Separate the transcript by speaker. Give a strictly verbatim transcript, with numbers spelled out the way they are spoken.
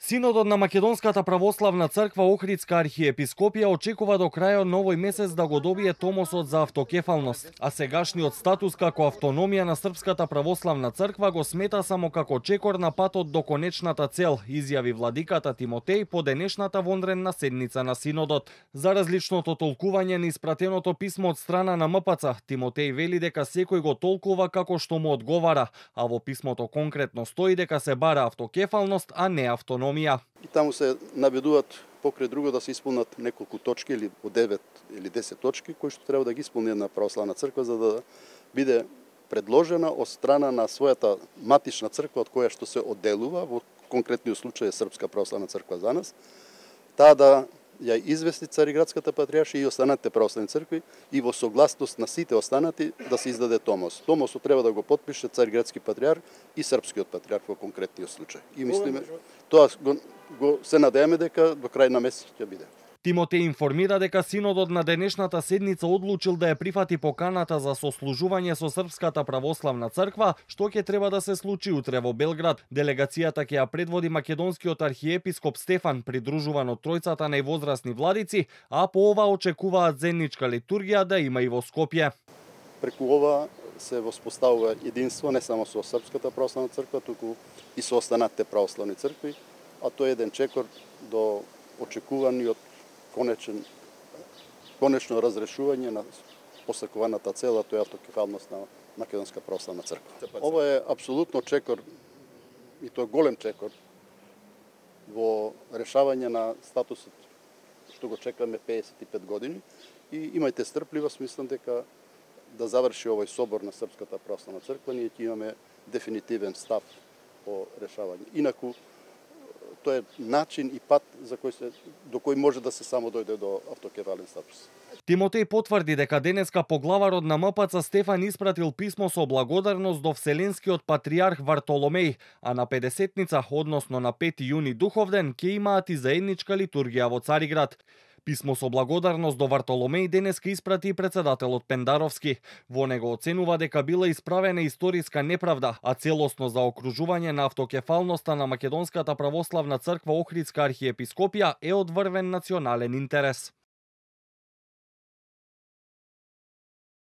Speaker 1: Синодот на Македонската православна црква Охридска архиепископија очекува до крајот на овој месец да го добие томосот за автокефалност, а сегашниот статус како автономија на Српската православна црква го смета само како чекор на патот до конечната цел, изјави владиката Тимотеј по денешната вонредна седница на Синодот. За различното толкување на испратеното писмо од страна на М П Ц, Тимотеј вели дека секој го толкува како што му одговара, а во писмото конкретно стои дека се бара автокефалност, а не автономија.
Speaker 2: И таму се наведуваат покрај друго да се исполнат неколку точки или по девет или десет точки кои што треба да ги исполни една православна црква за да биде предложена од страна на својата матична црква од која што се одделува, во конкретниот случај е Српска православна црква за нас, таа да ја извести Цариградската патријаршија и останатите православни цркви и во согласност на сите останати да се издаде томос. Томосот треба да го потпише Цариградски патријарх и Српскиот патријарх во конкретниот случај. И мислиме, тоа го, го се надееме дека до крај на месец ќе биде.
Speaker 1: Тимотеј информира дека Синодот на денешната седница одлучил да ја прифати поканата за сослужување со Српската православна црква, што ќе треба да се случи утре во Белград. Делегацијата ќе ја предводи македонскиот архиепископ Стефан, придружуван од тројцата највозрасни владици, а по ова очекуваат заедничка литургија да има и во Скопје.
Speaker 2: Преку ова се воспоставува единство не само со Српската православна црква, туку и со останатите православни цркви, а тоа е еден чекор до очекуваниот конечен конечно разрешување на посакуваната цела, тоа е автокефалност на Македонска православна црква. Ова е апсолутно чекор и тоа е голем чекор во решавање на статусот што го чекаме пеесет и пет години и имајте стрпливост, мислам дека да заврши овој собор на Српската православна црква, ние ќе имаме дефинитивен став по решавање. Инаку тоа е начин и пат за кој се до кој може да се само дојде до автокефален статус.
Speaker 1: Тимотеј потврди дека денеска поглаварот на М П Ц Стефан испратил писмо со благодарност до Вселенскиот патријарх Вартоломеј, а на педесетница, односно на пети јуни духовден, ќе имаат и заедничка литургија во Цариград. Писмо со благодарност до Вартоломеј денеска испрати и председателот Пендаровски. Во него оценува дека била исправена историска неправда, а целосно заокружување на автокефалноста на Македонската православна црква Охридска архиепископија е од врвен национален интерес.